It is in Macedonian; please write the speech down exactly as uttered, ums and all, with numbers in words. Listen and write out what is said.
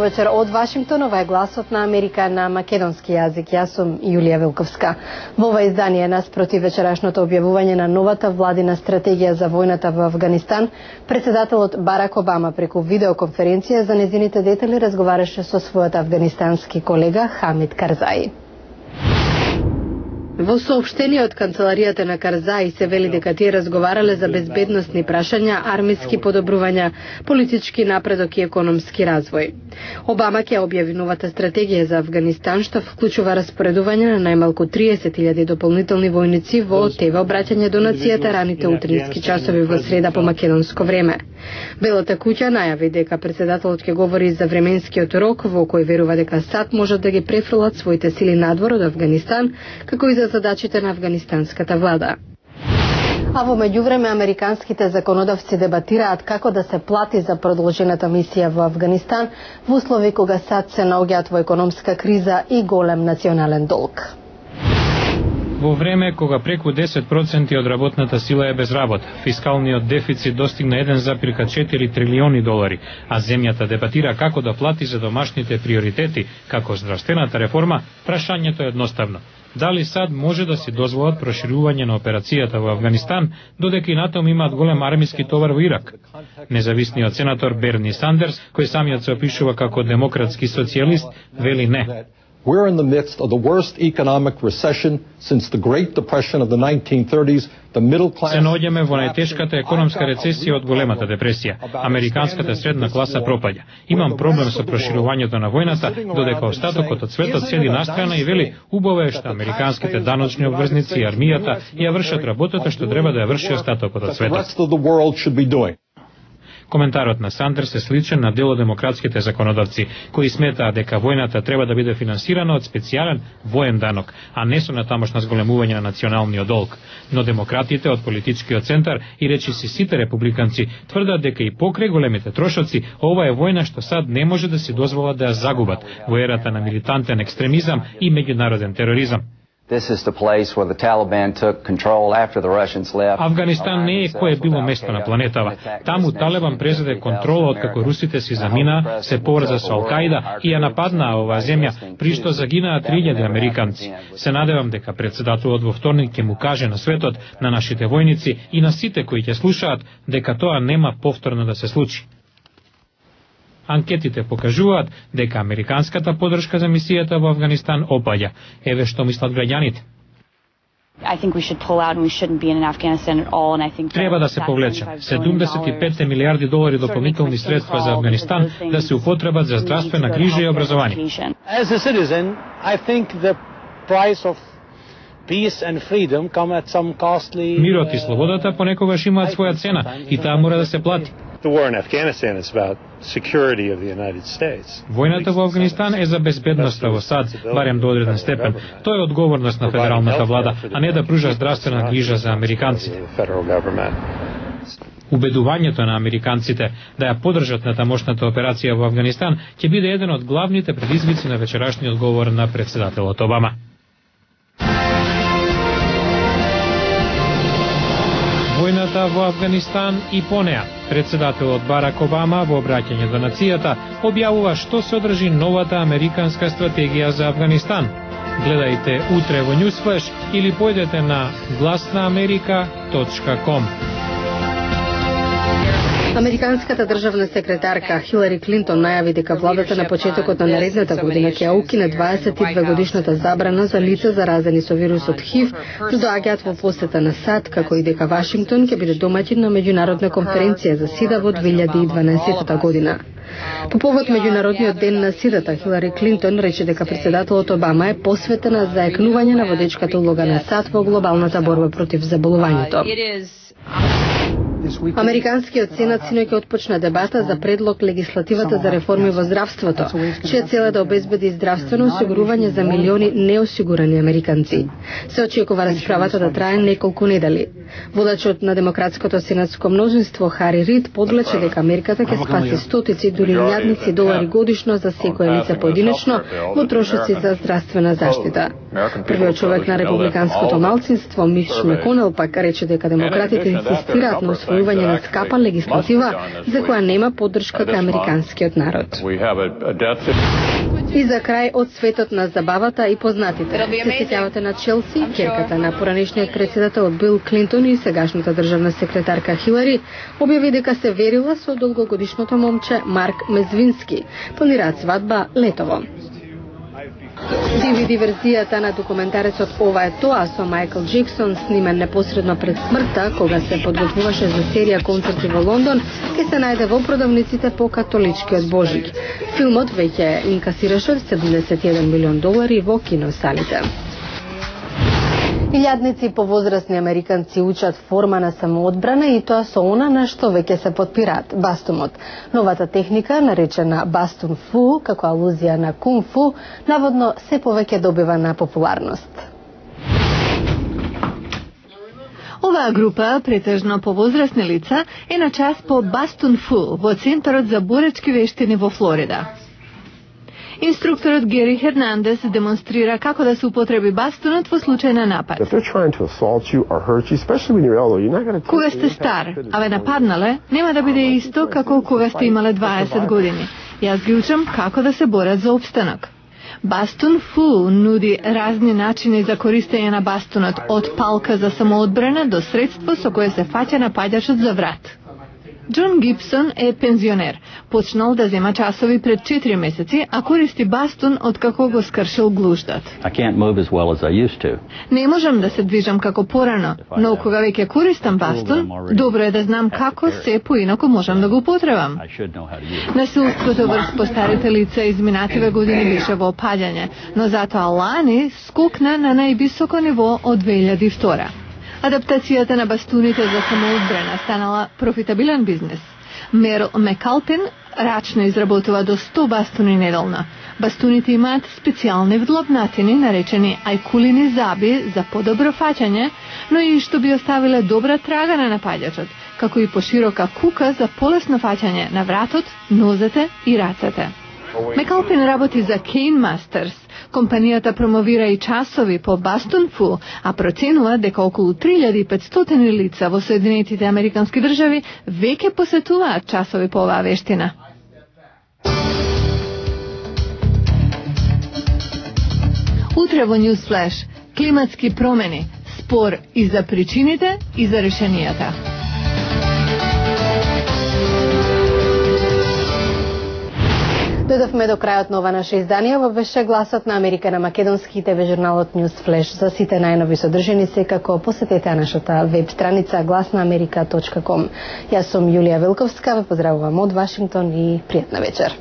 Добро вечер од Вашингтон, ова е гласот на Америка на македонски јазик. Јас сум Јулија Вилковска. Во ова издание наспроти вечерашното објавување на новата владина стратегија за војната во Авганистан, председателот Барак Обама преку видеоконференција за нејзините детали разговараше со својот авганистански колега Хамид Карзаи. Во соопштение од канцеларијата на Карзаи се вели дека тие разговарале за безбедносни прашања, армиски подобрувања, политички напредок и економски развој. Обама ќе објави новата стратегија за Авганистан, што вклучува распоредување на најмалку триесет илјади дополнителни војници во ТВ обраќање до нацијата раните утрински часови во среда по македонско време. Белата куќа најави дека председателот ќе говори за временскиот рок во кој верува дека САД можат да ги префрлат своите сили надвор од Авганистан, како и за задачите на афганистанската влада. А во меѓувреме американските законодавци дебатираат како да се плати за продолжената мисија во Авганистан во услови кога САД се наоѓаат во економска криза и голем национален долг. Во време кога преку десет проценти од работната сила е без работа, фискалниот дефицит достигна еден зарез четири трилиони долари, а земјата дебатира како да плати за домашните приоритети, како здравствената реформа, прашањето е едноставно. Дали САД може да си дозволат проширување на операцијата во Авганистан, додека и натаму имаат голем армиски товар во Ирак? Независниот сенатор Берни Сандерс, кој самиот се опишува како демократски социјалист, вели не. We're in the midst of the worst economic recession since the Great Depression of the nineteen thirties. The middle class. Се наоѓаме во најтешката економска рецесија од големата депресија. Американската средна класа пропаѓа. Имам проблем со проширувањето на војната, додека остатокот од светот седи настрана и вели убаво е што американските даночни обврзници и армијата ја вршат работата што треба да ја врши остатокот од светот. Коментарот на Сандерс е сличен на дел од демократските законодавци, кои сметаат дека војната треба да биде финансирана од специјален воен данок, а не со натамошно зголемување на националниот долг. Но демократите од политичкиот центар и речиси сите републиканци тврдат дека и покрај големите трошоци, ова е војна што САД не може да си дозволат да ја загубат во ерата на милитантен екстремизам и меѓународен тероризам. Авганистан не е кое било место на планетава. Таму Талебан презеде контрола откако русите си замина, се поврза со Ал-Каида и ја нападнаа оваа земја, при што загинаа три илјади американци. Се надевам дека председателот во вторник ќе му каже на светот, на нашите војници и на сите кои ќе слушаат дека тоа нема повторно да се случи. Анкетите покажуваат дека американската подршка за мисијата во Авганистан опаѓа. Еве што мислат граѓаните. Треба да се повлече. седумдесет и пет милијарди долари дополнителни средства за Авганистан да се употребат за здравствена грижа и образование. Мирот и слободата понекогаш имаат своја цена и таа мора да се плати. Војната во Авганистан е за безбедноста во САД, барем до одреден степен. Тоа е одговорност на федералната влада, а не да пружа здравствена грижа за американците. Убедувањето на американците да ја поддржат на тамошната операција во Авганистан ќе биде еден од главните предизвици на вечерашниот говор на председателот Обама. Војната во Авганистан и по неа. Председателот Барак Обама во обраќање до нацијата објавува што содржи новата американска стратегија за Авганистан. Гледајте утре во Newsflash или појдете на гласнаамерика точка ком. Американската државна секретарка Хилари Клинтон најави дека владата на почетокот на наредната година ќе ја укине дваесет и две годишната забрана за лица заразени со вирусот ХИВ да доаѓаат во посета на САД, како и дека Вашингтон ќе биде домаќин на меѓународна конференција за СИДА во две илјади и дванаесетта година. По повод меѓународниот ден на СИДА, Хилари Клинтон рече дека председателот Обама е посветена за екнување на водечката улога на САД во глобалната борба против заболувањето. Американскиот сенат синоќ отпочна дебата за предлог легислативата за реформи во здравството, чија цел е да обезбеди здравствено осигурување за милиони неосигурани американци. Се очекува расправата да трае неколку недели. Водачот на демократското сенатско мнозинство Хари Рид подлече дека мерката ќе спаси стотици, дури илјадници долари годишно за секое лице поединечно во трошоци за здравствена заштита. Првиот човек на републиканското малцинство Мич Маконел пак рече дека демократите инсистираат на усвојување на скапа легислатива за која нема поддршка кај американскиот народ. И за крај од светот на забавата и познатите. Се сеќавате на Челси, ќерката на поранешниот председател Бил Клинтон и сегашната државна секретарка Хилари, објави дека се верила со долгогодишното момче Марк Мезвински. Планираат свадба летово. ди ви ди верзијата на документарецот Ова е тоа со Майкл Джексон, снимен непосредно пред смртта, кога се подготвуваше за серија концерти во Лондон, ќе се најде во продавниците по католичкиот Божик. Филмот веќе инкасираше седумдесет и еден милион долари во киносалите. Илјадници повозрасни американци учат форма на самоодбрана и тоа со она на што веќе се подпираат, бастумот. Новата техника, наречена бастун фу, како алузија на кунг фу, наводно се повеќе добива на популарност. Оваа група, претежно повозрасни лица, е на час по бастун фу во Центарот за боречки вештини во Флорида. Инструкторот Гери Хернандес демонстрира како да се употреби бастунот во случај на напад. Кога сте стар, а ве нападнале, нема да биде исто како кога сте имале дваесет години. Јас ги учам како да се борат за опстанок. Бастун фу нуди разни начини за користење на бастунот, од палка за самоодбрана до средство со кое се фаќа напаѓачот за врат. Џон Гибсон е пензионер. Почнал да зема часови пред четири месеци, а користи бастун откако го скршил глуждат. Well Не можам да се движам како порано, но кога веќе користам бастун, добро е да знам како се поинаку можам да го употребам. Насилството врз постарите лица изминативе години беше во опаѓање, но затоа лани скокна на највисоко ниво од две илјади и втора. Адаптацијата на бастуните за самоодбрана станала профитабилен бизнес. Мерл Мекалпин рачно изработува до сто бастуни неделно. Бастуните имаат специјални вдлобнатини, наречени ајкулини заби за подобро фаќање, но и што би оставиле добра трага на напаѓачот, како и поширока кука за полесно фаќање на вратот, нозете и рацете. Мекалпин работи за Cane Masters. Компанијата промовира и часови по бастун фу, а проценува дека околу три илјади и петстотини лица во Соединетите Американски држави веќе посетуваат часови по оваа вештина. Утре во News Flash, климатски промени, спор и за причините и за решенијата. Дојдовме до крајот на ова наше издание. Во беше Гласот на Америка на македонски и ТВ журналот News Flash. За сите најнови содржини секако посетете нашата веб страница глас на америка точка ком. Јас сум Јулија Велковска, ве поздравувам од Вашингтон и пријатна вечер.